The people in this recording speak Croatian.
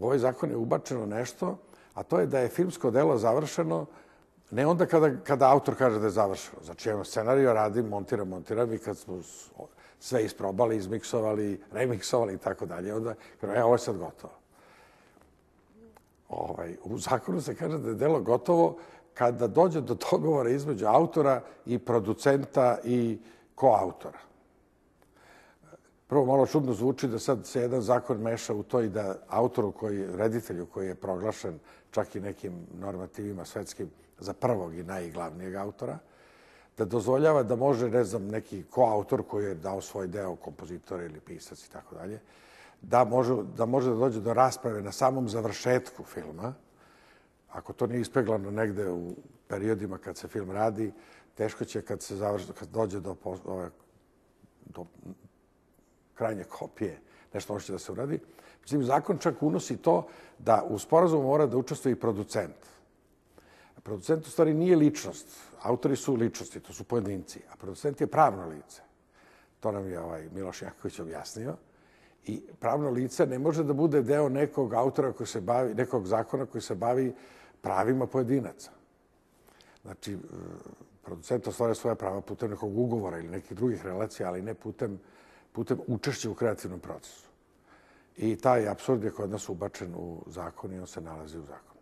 u ovaj zakon je ubačeno nešto, a to je da je filmsko delo završeno ne onda kada autor kaže da je završeno. Znači, evo, scenario radim, montiram i kad smo sve isprobali, izmiksovali, remiksovali i tako dalje, onda kažem, ovo je sad gotovo. U zakonu se kaže da je delo gotovo kada dođe do dogovora između autora i producenta i koautora. Prvo, malo čudno zvuči da sad se jedan zakon meša u to i da autoru, reditelju koji je proglašen čak i nekim normativima svetskim za prvog i najglavnijeg autora, da dozvoljava da može, ne znam, neki koautor koji je dao svoj deo, kompozitor ili pisac i tako dalje, da može da dođe do rasprave na samom završetku filma. Ako to nije ispeglano negde u periodima kad se film radi, teško će kad dođe do krajnje kopije, nešto može da se uradi. Međutim, zakon čak unosi to da u sporazumu mora da učestvuje i producent. Producent u stvari nije ličnost. Autori su ličnosti, to su pojedinci, a producent je pravno lice. To nam je Miloš Janković objasnio. I pravno lice ne može da bude deo nekog autora koji se bavi, nekog zakona koji se bavi pravima pojedinaca. Znači, producent ostvaruje svoja prava putem nekog ugovora ili nekih drugih relacija, ali ne putem učešća u kreativnom procesu. I taj apsurd je kod nas ubačen u zakon i on se nalazi u zakonu.